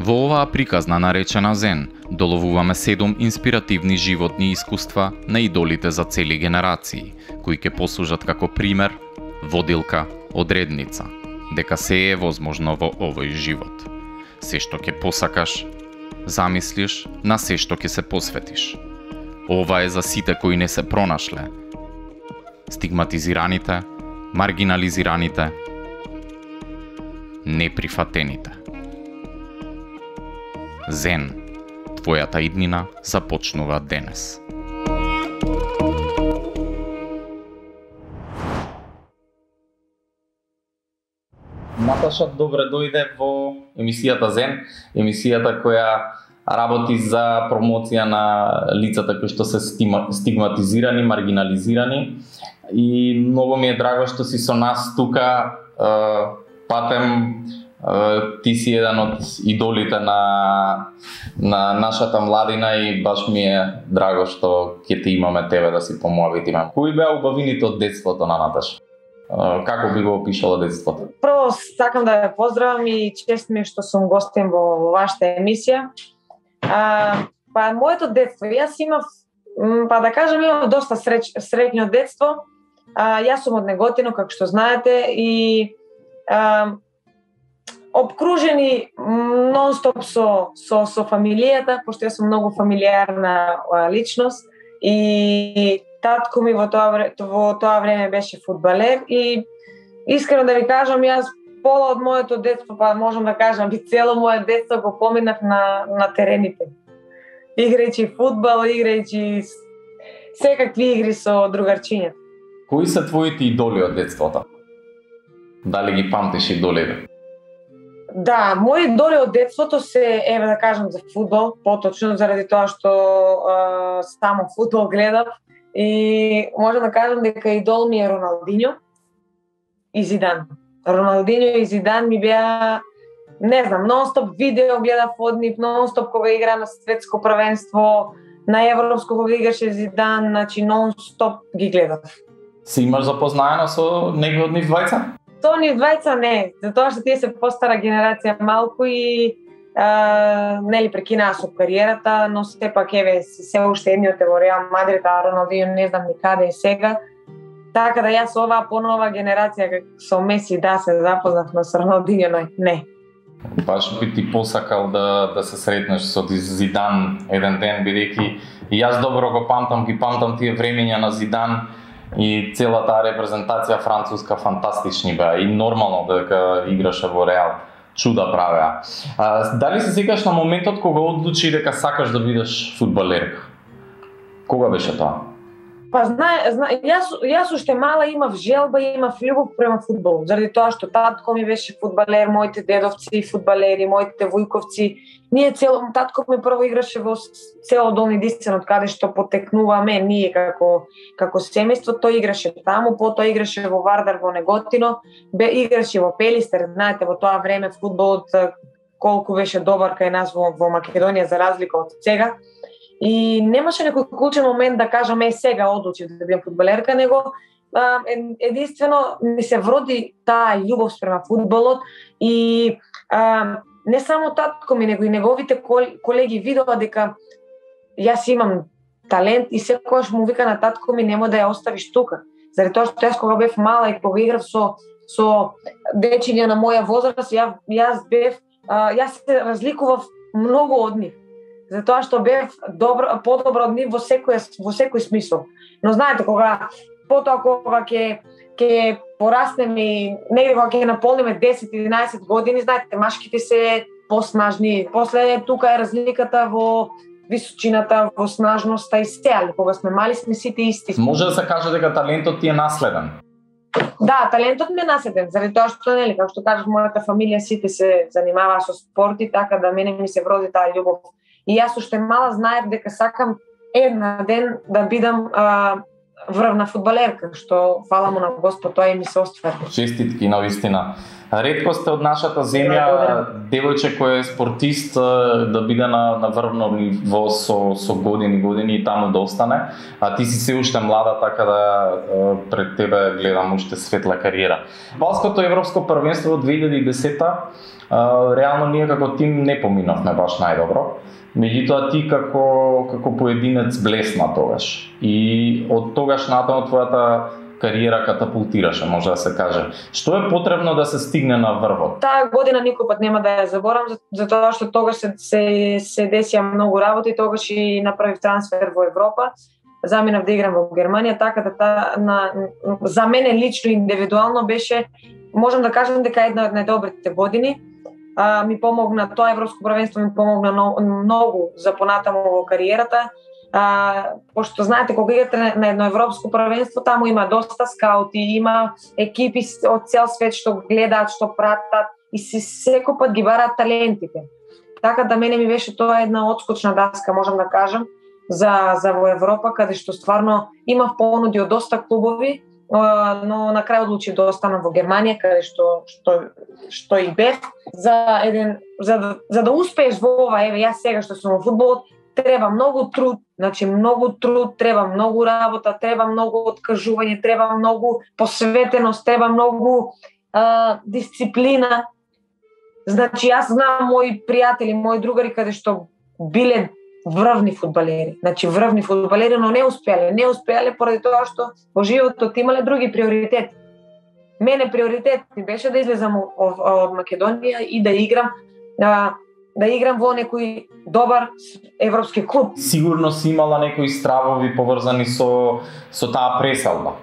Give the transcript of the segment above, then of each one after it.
Во оваа приказна наречена Зен, доловуваме 7 инспиративни животни искуства на идолите за цели генерации, кои ќе послужат како пример, водилка, одредница, дека се е возможно во овој живот. Се што ќе посакаш, замислиш, на се што ќе се посветиш. Ова е за сите кои не се пронашле, стигматизираните, маргинализираните, неприфатените. Зен, твојата иднина започнува денес. Наташа, добре дојде во емисијата Зен, емисијата која работи за промоција на лицата кои што се стигматизирани, маргинализирани, и многу ми е драго што си со нас тука. Патем, ти си еден од идолите на нашата младина и баш ми е драго што ќе ти имаме тебе да си помоавитиме. Кои беа убавините од детството на Наташа? Како би го опишала детството? Прво сакам да ве поздравам и чест ми што сум гостин во вашата емисија. Моето детство, јас имав, да кажам, имав доста среќно детство. Јас сум од Неготино, како што знаете, и обкружени нон-стоп со фамилијата, пошто јас сум многу фамилиарна личност, и татко ми во тоа време беше фудбалер, и искрено да ви кажам, јас пола од моето детство, можам да кажам и цело моето детство го поминав на терените. Играјќи фудбал, играјќи секакви игри со другарчињата. Кои се твоите идоли од детството? Дали ги памтиш идолите? Да, мои идоли од детството се, еве да кажам, за фудбал, поточно заради тоа што само фудбал гледав, и можам да кажам дека идол ми е Роналдињо и Зидан. Роналдињо и Зидан ми беа, не знам, нон-стоп видео гледав од нив, нон-стоп кога игра на светско првенство, на европско кога играше Зидан, значи нон-стоп ги гледав. Си имаш запознаено со некој од нив двајца? Со нив двајца не, затоа што тие се постара генерација малку и нели прекинаа со кариерата, но сепак еве се уште едниот е во Реал Мадрид, а Роналдињо не знам ни каде е сега. Така да јас оваа понова генерација со Меси да се запознав, но со Роналдињо не. Баш би ти посакал да се сретнеш со Зидан еден ден, бидејќи и јас добро го памтам, ги памтам тие времења на Зидан и целата репрезентација француска фантастични беа, и нормално дека играше во Реал. Чуда правеа. Дали се сеќаш на моментот кога одлучи дека сакаш да бидеш фудбалерка? Кога беше тоа? Јас уште мала имав желба и имав љубов према фудбал, заради тоа што татко ми беше фудбалер, моите дедовци фудбалери, моите вујковци. Татко ми прво играше во село Долни Дисцен, од каде што потекнуваме ние како семејство. Тој играше таму, потоа играше во Вардар во Неготино, играше во Пелистер. Знаете, во тоа време фудбалот колку беше добар кај нас во Македонија за разлика од сега. И немаше некој клучен момент да кажам сега одлучив да бидам фудбалерка, него единствено ми се вроди таа љубов спрема фудбалот, и не само татко ми, него и неговите колеги видоа дека јас имам талент, и секогаш му вика на татко ми: нема да ја оставиш тука. Заради тоа што јас кога бев мала и кога играв со дечиња на моја возраст, јас се разликував многу од нив. Затоа што бев подобро од нив во секој смисол. Но знаете, кога ќе пораснеме и негде кога ќе наполниме 10-11 години, знаете, машките се поснажни. После тука е разликата во височината, во снажноста и се, али кога сме мали сме сите исти. Може да се каже дека талентот ти е наследен? Да, талентот ми е наследен, заради тоа што нели, како што кажав, мојата фамилија сите се занимаваа со спорт и така да мене ми се вроди таа љубов. И јас уште мала знаев дека сакам една ден да бидам врвна фудбалерка, што фала му на Господ, тоа и ми се оствари. Честитки на вистина. Ретко сте од нашата земја девојче кој е спортист да биде на врвно ниво со години и таму да остане, а ти си се уште млада, така да пред тебе гледам уште светла кариера. Балското европско првенство од 2010-та, реално ние како тим не поминавме баш најдобро. Меѓутоа ти како поединец блесна тогаш и од тогаш натаму твојата кариера катапултираше, може да се каже. Што е потребно да се стигне на врвот? Таа година никој пат нема да ја заборам, затоа што тогаш се десија многу работи, тогаш и направив трансфер во Европа. Заминав да играм во Германија, така да за мене лично индивидуално беше, можам да кажам дека една од најдобрите години. Ми помогна тоа европско првенство, ми помогна многу за понатаму во кариерата. Пошто знаете, кога играте на едно европско првенство, таму има доста скаути, има екипи од цел свет што гледаат, што пратат и секој пат ги бараат талентите. Така да мене ми беше тоа една отскочна даска, можам да кажам, за во Европа, каде што стварно имав понуди од доста клубови, но на крај одлучив да останам во Германија, каде што и бев. За да успееш во ова, еве јас сега што сум во фудбалот, треба многу труд, треба многу работа, треба многу откажување, треба многу посветеност, треба многу дисциплина. Значи јас знам мои пријатели, мои другари каде што биле врвни фудбалери, но не успеале поради тоа што во животот имале други приоритети. Мене приоритет беше да излезам од Македонија и да играм во некој добар европски клуб. Сигурно си имала некои стравови поврзани со таа преселба.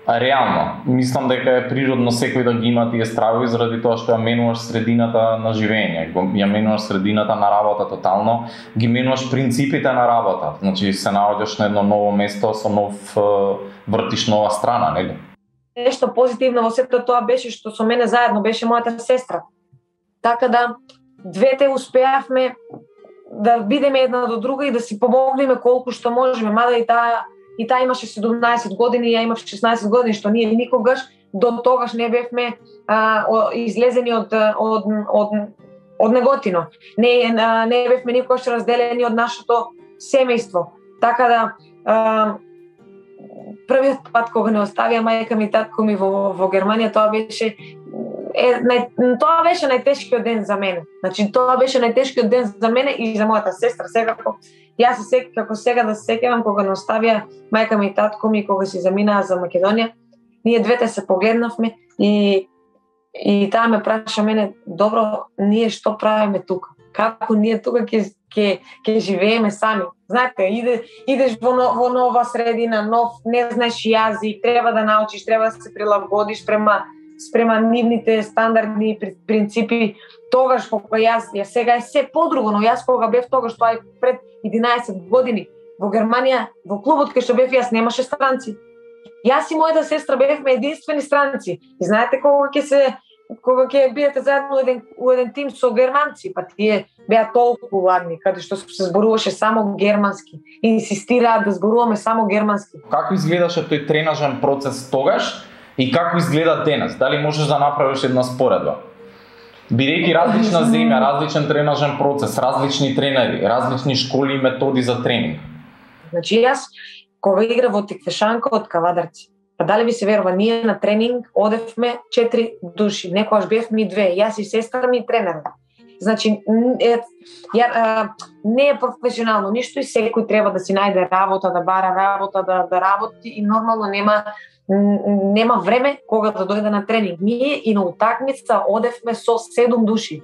Реално, мислам дека е природно секој да ги има тие стравови заради тоа што ја менуваш средината на живење, ја менуваш средината на работа тотално, ги менуваш принципите на работа. Значи се наоѓаш на едно ново место со вртиш нова страна, нели? Нешто позитивно во сето тоа беше што со мене заедно беше мојата сестра. Така да двете успеавме да бидеме една до друга и да си помогнеме колку што можеме, мада и таа имаше 17 години, ја имав 16 години, што ние никогаш до тогаш не бевме излезени од неготино. Не бевме никогаш разделени од нашето семејство. Така да првиот пат кога не оставија мајка ми и татко ми во Германија, тоа беше најтешкиот ден за мене. Значи тоа беше најтешкиот ден за мене и за мојата сестра. Секако јас како сега да се сеќавам кога не оставија мајка ми и татко ми кога си заминаа за Македонија, ние двете се погледнавме и таа ме праша мене, добро, ние што правиме тука? Како ние тука ќе живееме сами? Знаете, идеш во нова средина, не знаеш јазик, треба да научиш, треба да се прилагодиш спрема нивните стандардни принципи. Тогаш кога јас сега е се подруго, но јас кога бев тогаш, тоа е пред 11 години, во Германија, во клубот кај што бев јас немаше странци. Јас и мојата сестра бевме единствени странци. И знаете кога ќе бидете заедно во еден тим со германци, па тие беа толку ладни, каде што се зборуваше само германски. Инсистираат да зборуваме само германски. Како изгледаше тој тренажен процес тогаш и како изгледа денес? Дали можеш да направиш една споредба? Бидејќи различна земја, различен тренажен процес, различни тренери, различни школи и методи за тренинг. Значи јас кога игра во Тиквешанка од Кавадарци, па дали ви се верува, ние на тренинг одевме 4 души, некогаш бевме и 2, јас и сестра ми и тренерот. Значи не е професионално ништо и секој треба да си најде работа, да бара работа, да работи и нормално нема време кога да дојде на тренинг. Ние и на утакмица одевме со 7 души.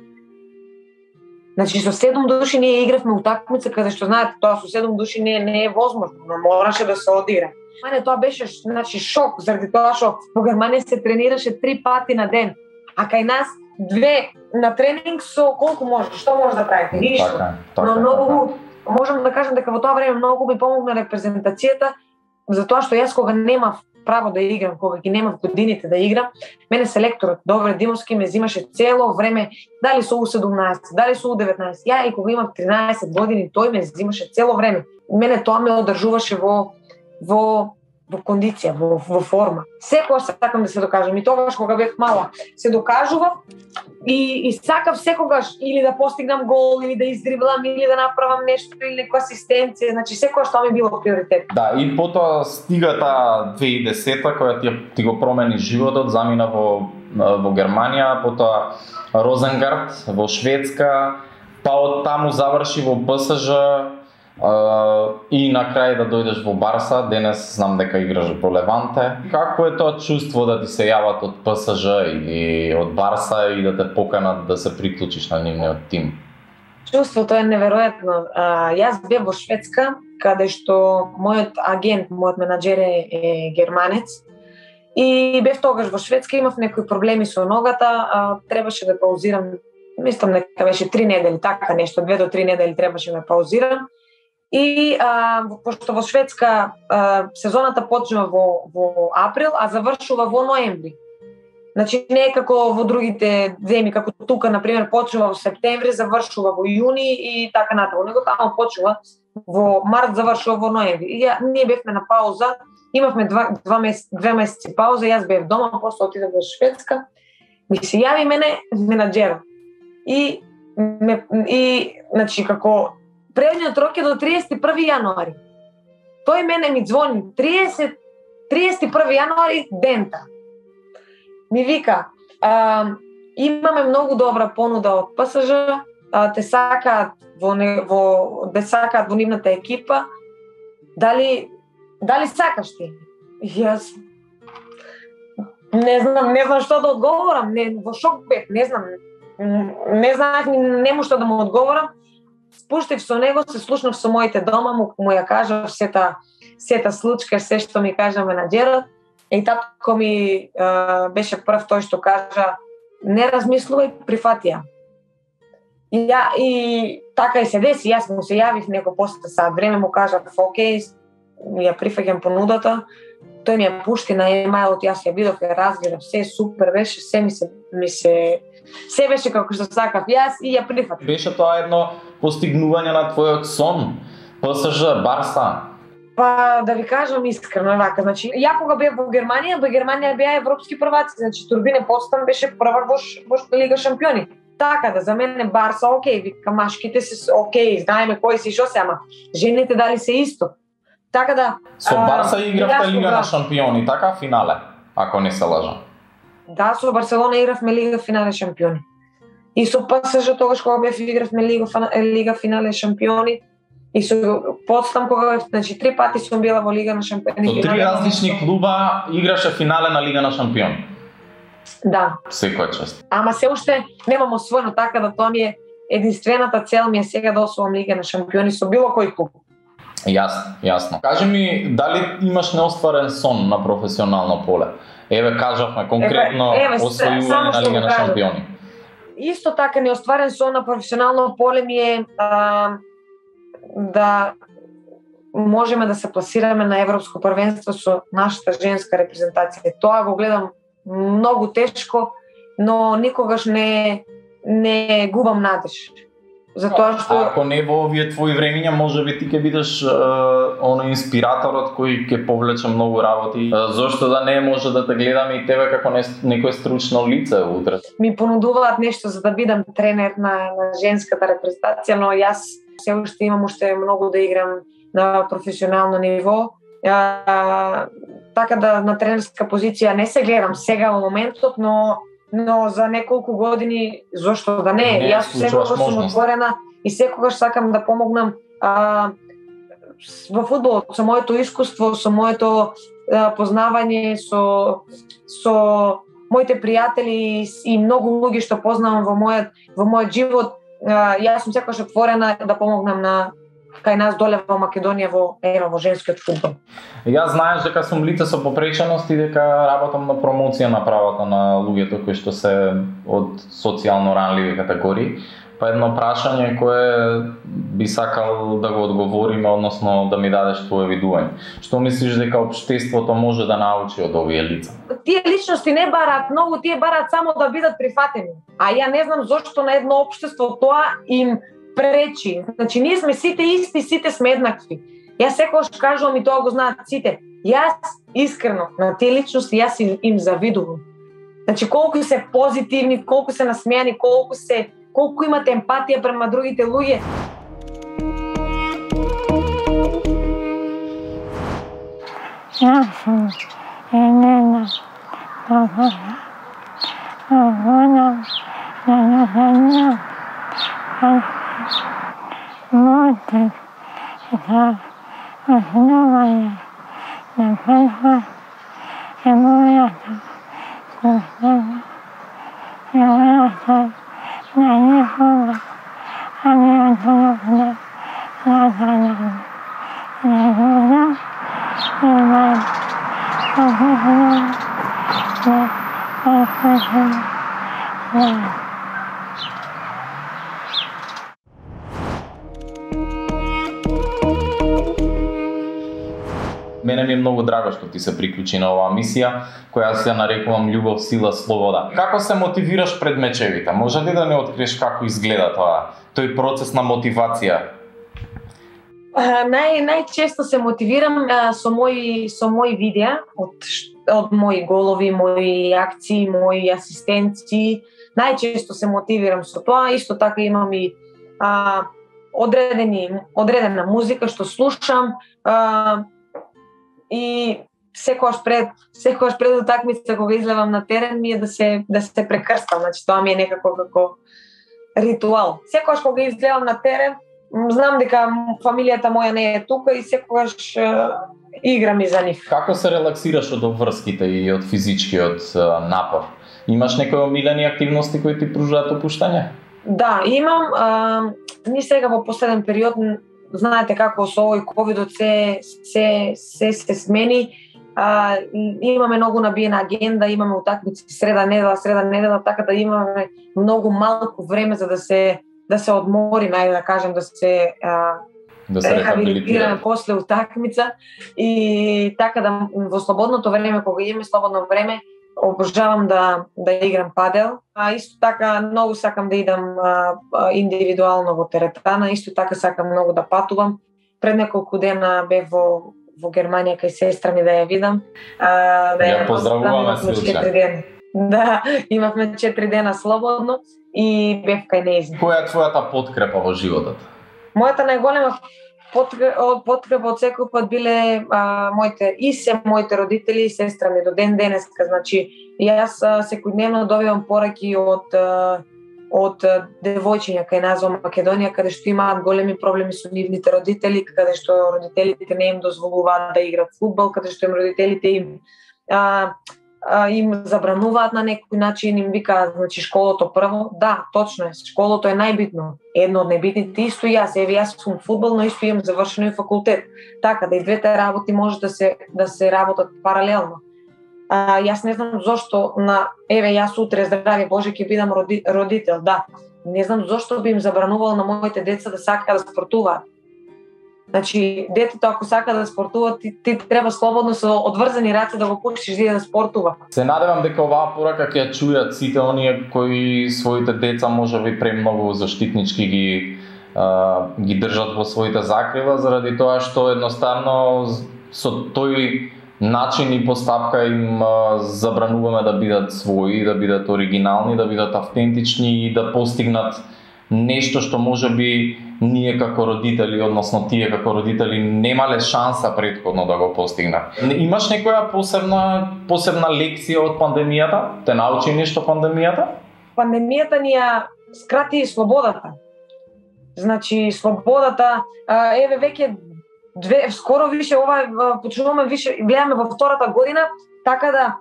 Значи со 7 души ние игравме утакмица, каде што знаете, тоа со 7 души не е возможно, но мораше да се одигра. Мене тоа беше шок, заради тоа што во Германија се тренираше 3 пати на ден, а кај нас 2 на тренинг со колку може, што може да правите? Ништо. Но многу можам да кажам дека во тоа време многу ми помогна репрезентацијата, затоа што јас кога немав право да играм, кога ги немав годините да играм, мене селекторот Добре Димовски ме взимаше цело време, дали со U17, дали со U19. Ја и кога имав 13 години, тој ме взимаше цело време. Мене тоа ме одржуваше во кондиција, во форма. Секогаш сакам да се докажам. И тогаш кога бев мала, се докажував и сакав секогаш или да постигнам гол, или да издриблам, или да направам нешто, или некоја асистенција. Значи секогаш тоа ми било приоритет. Да, и потоа стига таа 2010-та која ти го промени животот, замина во Германија, потоа Розенгард во Шведска, па од таму заврши во ПСЖ, и на крај да дојдеш во Барса, денес знам дека играш во Леванте. Како е тоа чувство да ти се јават од ПСЖ или од Барса и да те поканат да се приклучиш на нивниот тим? Чувството е неверојатно. Јас бев во Шведска, каде што мојот агент, мојот менаџер е германец. И бев тогаш во Шведска, имав некои проблеми со ногата, требаше да паузирам, мислам дека беше 3 недели, така нешто, 2 до 3 недели требаше да паузирам. И пошто во Шведска сезоната почнува во април, а завршува во ноември. Значи не е како во другите земји, како тука на пример почнува во септември, завршува во јуни и така натаму. Него таму почнува во март, завршува во ноември. И ние бевме на пауза, имавме 2 месеци пауза, јас бев дома, после отидов во Шведска. Ми се јави мене менаџерот. И значи како предниот рок е до 31 јануари. Тој мене ми звони 31 јануари дента. Ми вика, имаме многу добра понуда од ПСЖ, те сакаат во нивната екипа. Дали сакаш ти? Јас не знам што да одговорам, во шок бев, не знаев, нему што да му одговорам. Спуштив со него, се слушнав со моите дома, му ја кажав сета случка, се што ми кажа менаџерот. И татко ми беше прв тој што кажа не размислувај, прифати ја. И така и се деси, јас му се јавив неко после сат време, му кажав окей, ја прифаќам понудата. Тој ми ја пушти на емајлот, јас ја видов, ја разгледав, се супер беше, се беше како што сакав јас и ја прифатив. Беше тоа едно постигнување на твојот сон? ПСЖ, Барса? Па да ви кажам искрено вака, значи ја кога бев во Германија беа европски прваци, значи Турбине Потсдам беше прва во Лига шампиони. Така да за мене Барса окей, вика машките се окей, знаеме кои се и што се, ама жените дали се исто. Така да со Барса игравте Лига на шампиони, така финале, ако не се лажам. Да, со Барселона игравме Лига финале шампиони. И со ПСЖ тогаш кога бев игравме Лига финале шампиони. И со Потсдам кога бев, значи 3 пати сум била во Лига на шампиони. Со 3 различни клуба играше финале на Лига на шампиони. Да. Секоја чест. Ама се уште немам освоено, така да тоа ми е единствената цел ми е сега да освоам Лига на шампиони со било кој клуб. Јасно. Кажи ми, дали имаш неостварен сон на професионално поле? Еве кажавме конкретно освојување на Лига на шампиони. Исто така неостварен сон на професионално поле ми е да можеме да се пласираме на европско првенство со нашата женска репрезентација. Тоа го гледам многу тешко, но никогаш не губам надеж. Затоа што ако не во овие твои времиња, можеби ти ќе бидеш оној инспираторот кој ќе повлече многу работи. Зошто да не може да те гледаме и тебе како некој стручно лице утре? Ми понудуваат нешто за да бидам тренер на женската репрезентација, но јас се уште имам многу да играм на професионално ниво. Така да на тренерска позиција не се гледам сега во моментот, но за неколку години зошто да не? Јас секогаш сум отворена и секогаш сакам да помогнам во фудбалот со моето искуство, со моето познавање, со моите пријатели и многу луѓе што познавам во мојот живот. Јас сум секогаш отворена да помогнам кај нас доле во Македонија во женскиот фудбал. Јас знаеш дека сум лице со попреченост и дека работам на промоција на правата на луѓето кои што се од социјално ранливи категории. Па едно прашање кое би сакал да го одговориме, односно да ми дадеш твое видување. Што мислиш дека општеството може да научи од овие лица? Тие личности не бараат многу, тие бараат само да бидат прифатени. А ја не знам зошто на едно општество тоа им пречи. Значи, ние сме сите исти, сите сме еднакви. Јас секогаш кажувам и тоа го знаат сите. Јас искрено на тие личности јас им завидувам. Значи, колку се позитивни, колку се насмејани, колку имате емпатија према другите луѓе. Мене ми е многу драго што ти се приклучи на оваа мисија, која се нарекувам љубов, сила, слобода. Како се мотивираш пред мечевите? Може ли да не откриеш како изгледа тој процес на мотивација? Најчесто се мотивирам со мои видеа од мои голови, мои акции, мои асистенции. Најчесто се мотивирам со тоа. Исто така имам и одредена музика што слушам. И секогаш пред утакмица кога излевам на терен ми е да се прекрстам, значи тоа ми е некако како ритуал. Секогаш кога излевам на терен, знам дека фамилијата моја не е тука и секогаш играм и за нив. Како се релаксираш од обврските и од физичкиот напор? Имаш некои омилени активности кои ти пружаат опуштање? Да, имам. Ни сега во последен период, знаете како со овој ковидот се смени. Имаме многу набиена агенда, имаме утакмици среда недела, така да имаме многу малку време за да се одмориме, ајде да кажем, да се рехабилитираме после утакмица и така да во слободното време, кога имаме слободно време, обожавам да играм падел. Исто така многу сакам да идам индивидуално во теретана, исто така сакам многу да патувам. Пред неколку дена бев во Германија кај сестра ми да ја видам. Ја поздравуваме Силче. Да, имавме 4 дена слободно и бев кај нејзин. Која е твојата подкрепа во животот? Мојата најголема подкрепа од секој пат биле моите родители и сестра ми до ден денеска. Значи, јас секојдневно добивам пораки од девојчиња кај нас во Македонија, каде што имаат големи проблеми со нивните родители, каде што родителите не им дозволуваат да играат фудбал, каде што родителите им забрануваат на некој начин, им викаат, значи, школото прво. Да, точно е, школото е најбитно. Едно од најбитните, исто јас сум фудбал, но исто имам завршено и факултет. Така да и двете работи може да се работат паралелно. Јас не знам зошто јас утре, здрави Боже, ќе бидам родител, да. Не знам зошто би им забранувал на моите деца да сакаат да спортуваат. Значи, детето ако сака да спортува, ти треба слободно со одврзани раце да го пуштиш да спортува. Се надевам дека оваа порака ќе ја чујат сите оние кои своите деца можеби премногу заштитнички ги држат во своите закрила, заради тоа што едноставно со тој начин и постапка им забрануваме да бидат своји, да бидат оригинални, да бидат автентични и да постигнат нешто што можеби ние како родители, односно тие како родители немале шанса претходно да го постигнат. Имаш некоја посебна лекција од пандемијата? Те научи нешто пандемијата? Пандемијата ни ја скрати слободата. Значи, слободата, веќе скоро више почнуваме више, гледаме во втората година, така да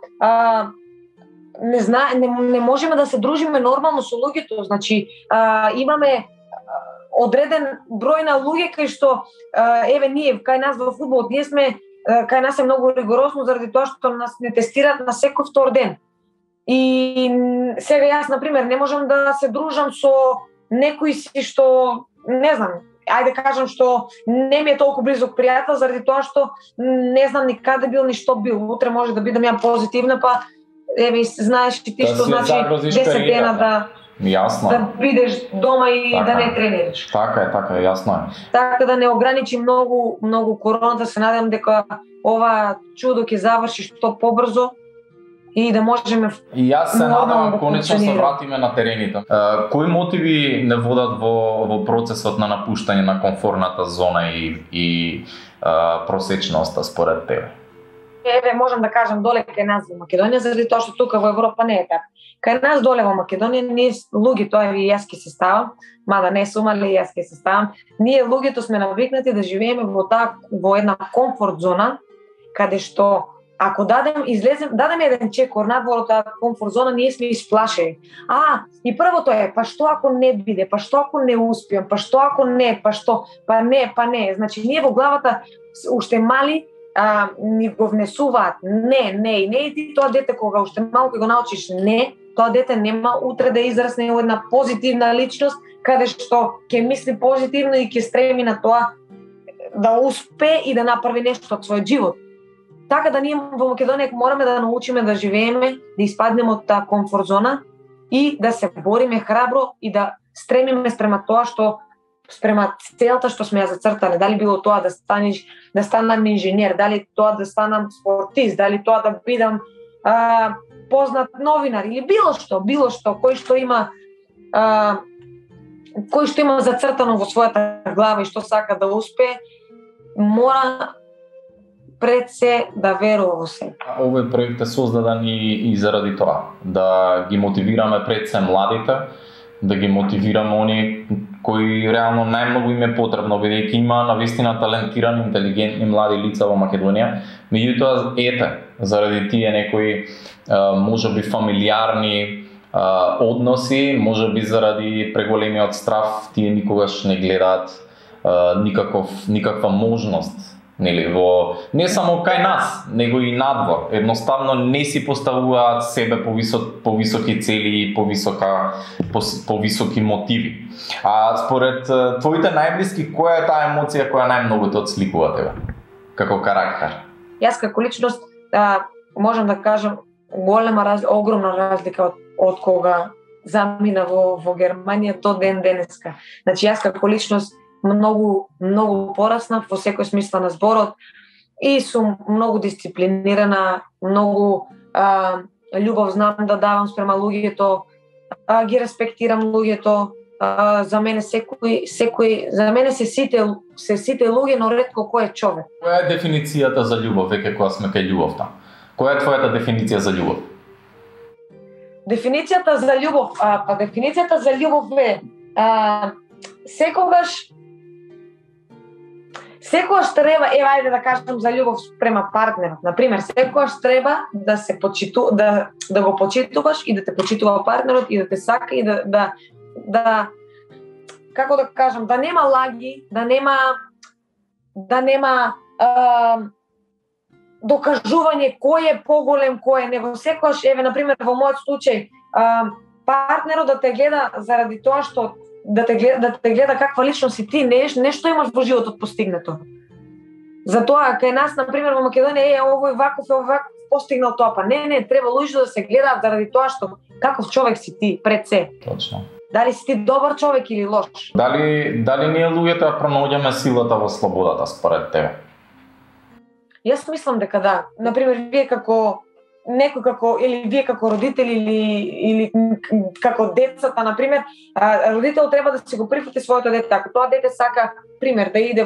не можеме да се дружиме нормално со луѓето. Значи, имаме одреден број на луѓе кај што еве ние кај нас во фудбалот ние сме кај нас е многу ригорозно заради тоа што нас не тестираат на секој втор ден. И сега јас на пример не можам да се дружам со некој си што не знам, ајде кажам што не ми е толку близок пријател заради тоа што не знам ни каде бил ни што бил. Утре може да бидам ја позитивна, па еве знаеш и ти што значи 10 дена да Јасно. Да бидеш дома и така, да не тренираш. Така е, јасно е. Така да не ограничи многу короната, се надевам дека ова чудо ќе заврши што побрзо и да можеме. И јас се надевам да конечно се вратиме на терените. Кои мотиви не водат во процесот на напуштање на комфорната зона и просечноста според тебе? Еве можам да кажам доле кај нас во Македонија, заради тоа што тука во Европа не е така. Кај нас доле во Македонија ние луѓето, тоа и јас ќе се ставам, мада не сум, али јас ќе се ставам. Ние луѓето сме навикнати да живееме во една комфорт зона, каде што ако дадем еден чекор надвор од таа комфорт зона, ние сме исплашени. И првото е, па што ако не биде, па што ако не успеам, па што ако не, па што, па не. Значи ние во главата уште мали ни го внесуваат не и ти тоа дете кога уште малку го научиш не, тоа дете нема утре да израсне во една позитивна личност каде што ќе мисли позитивно и ќе стреми на тоа да успее и да направи нешто од својот живот. Така да ние во Македонија мораме да научиме да живееме, да испаднеме од таа комфорт зона и да се бориме храбро и да стремиме спрема тоа што спрема целта што сме ја зацртале, дали било тоа да станам инженер, дали тоа да станам спортист, дали тоа да бидам познат новинар или било што кој што има зацртано во својата глава и што сака да успее, мора пред се да верува во себе. Овој проект е создаден и заради тоа, да ги мотивираме пред се младите, да ги мотивираме оние кои реално најмногу им е потребно, бидејќи има навистина талентирани, интелигентни млади лица во Македонија, меѓутоа заради тие некои можеби фамилиарни односи, можеби заради преголемиот страф, тие никогаш не гледаат никаква можност, нели, не само кај нас, него и надвор. Едноставно не си поставуваат себе повисоки цели и повисоки мотиви. А според твоите најблиски, која е таа емоција која најмногу те отсликува тебе како карактер? Јас како личност можам да кажам огромна разлика од кога замина во Германија до денеска. Значи јас како личност многу пораснав во секој смисла на зборот и сум многу дисциплинирана, многу љубов знам да давам спрема луѓето, ги респектирам луѓето. За мене за мене се сите луѓе, но ретко кој е човек. Која е дефиницијата за љубов, веќе кога сме кај љубовта? Која е твојата дефиниција за љубов? Дефиницијата за љубов е секогаш треба, ајде да кажам за љубов спрема партнерот. Например, секогаш треба да се да го почитуваш и да те почитува партнерот и да те сака и да како да кажам, да нема лаги, да нема докажување кој е поголем, кој е него. Секогаш, еве например во мојот случај, партнерот да те гледа заради тоа што да те гледа каква личност си ти, нешто имаш во животот постигнато. Затоа кај нас например во Македонија овој ваков постигнал тоа, па не, треба луѓето да се гледаат заради тоа што каков човек си ти пред се. Точно. Дали си ти добар човек или лош? Дали ние луѓето ја пронаоѓаме силата во слободата според тебе? Јас мислам дека да. Например, вие како родители или како децата, например, родител треба да си го прифати своето дете. Ако тоа дете сака, пример, да иде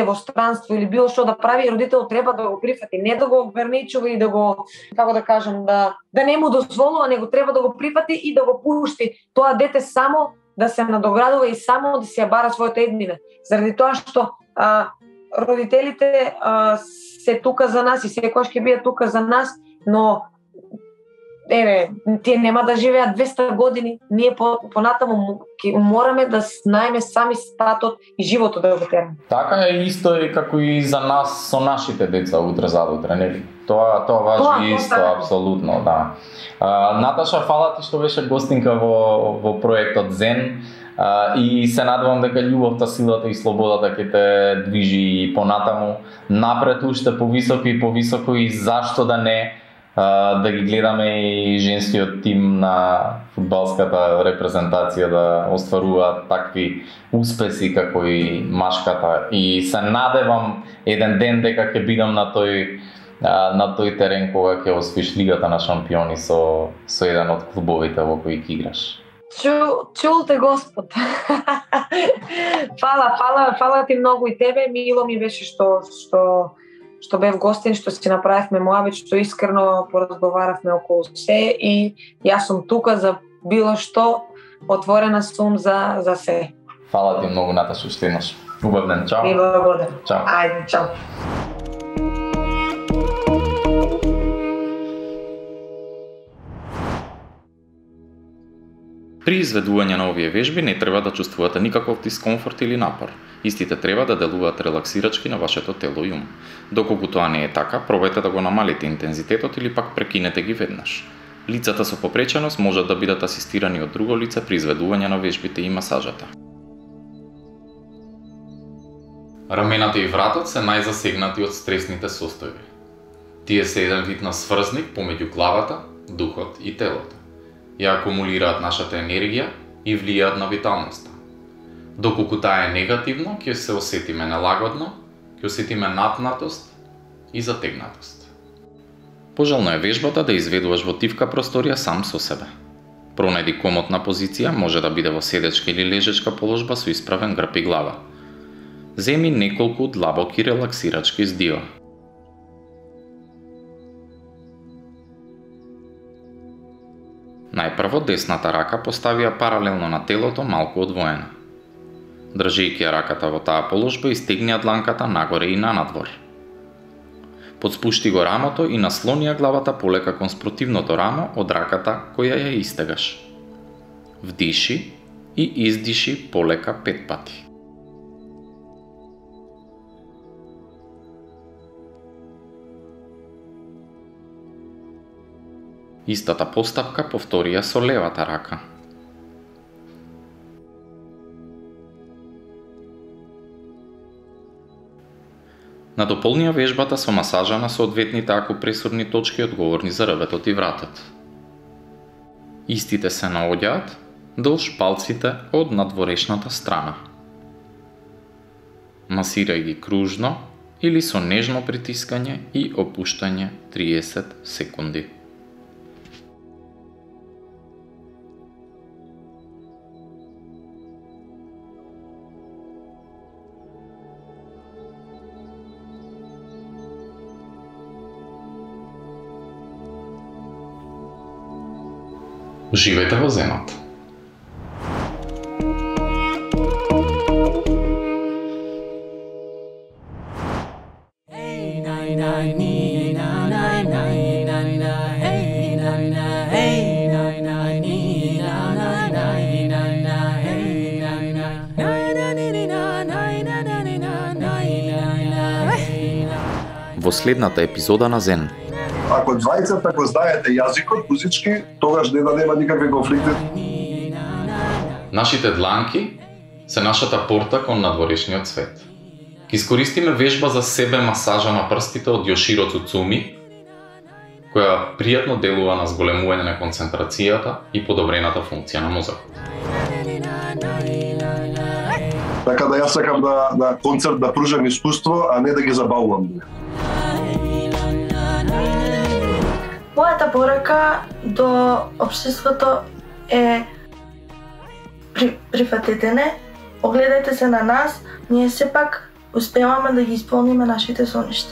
во странство или било што да прави, родител треба да го прифати, не да го ограничува и да го, како да кажам, да не му дозволува, него треба да го прифати и да го пушти тоа дете само да се надоградува и само да се ја бара својата еднина. Заради тоа што родителите се тука за нас и секогаш ќе бидат тука за нас, но тие нема да живеат 200 години, ние понатаму мораме да знаеме сами патот и животот да го тераме. Така е исто и како и за нас со нашите деца утре задутре, нели? Тоа важи исто, апсолутно, да. Наташа, фала ти што беше гостинка во проектот Зен. И се надевам дека љубовта, силата и слободата ќе те движи и понатаму напред уште повисоко и повисоко, и зашто да не да ги гледаме и женскиот тим на фудбалската репрезентација да остваруваат такви успеси како и машката. И се надевам еден ден дека ќе бидам на тој терен кога ќе освоиш Лигата на шампиони со еден од клубовите во кои ќе играш. Чул те Господ. Фала ти многу и тебе. Мило ми беше што бев гостин, што си направивме моабит, што искрено поразговаравме околу се, и јас сум тука за било што, отворена сум за се. Фала ти многу, Наташа, што еднаш. Убав ден, чао. И благодарам. Чао. Ајде, чао. При изведување на овие вежби не треба да чувствувате никаков дискомфорт или напор. Истите треба да делуваат релаксирачки на вашето тело и ум. Доколку тоа не е така, пробајте да го намалите интензитетот или пак прекинете ги веднаш. Лицата со попреченост можат да бидат асистирани од друго лице при изведување на вежбите и масажата. Рамената и вратот се најзасегнати од стресните состојби. Тие се еден вид на сврзник помеѓу главата, духот и телото. Ја акумулираат нашата енергија и влијаат на виталноста. Доколку таа е негативно, ќе се осетиме нелагодно, ќе осетиме напнатост и затегнатост. Пожелно е вежбата да изведуваш во тивка просторија сам со себе. Пронајди комотна позиција, може да биде во седечка или лежечка положба со исправен грб и глава. Земи неколку длабоки релаксирачки здива. Најпрво десната рака постави ја паралелно на телото, малку одвоена. Држејќи ја раката во таа положба, истегни ја дланката нагоре и нанадвор. Подспушти го рамото и наслони ја главата полека кон спротивното рамо од раката која ја истегаш. Вдиши и издиши полека 5 пати. Истата постапка повтори ја со левата рака. Надополни ја вежбата со масажа на соодветните акупресорни точки одговорни за рветот и вратот. Истите се наоѓаат долж палците од надворешната страна. Масирај ги кружно или со нежно притискање и опуштање 30 секунди. Уживајте во зенот. Во следната епизода на Зен. Ако двајцата го знаете јазикот музички, тогаш не да нема никакви конфликти. Нашите дланки се нашата порта кон надворешниот свет. Ке искористиме вежба за себе масажа на прстите од Јоширо Цуцуми, која пријатно делува на зголемување на концентрацијата и подобрената функција на мозокот. Така да јас сакам на концерт да пружам искуство, а не да ги забавувам. Мојата порака до општеството е прифатете не, огледајте се на нас, ние сепак успеваме да ги исполниме нашите соништа.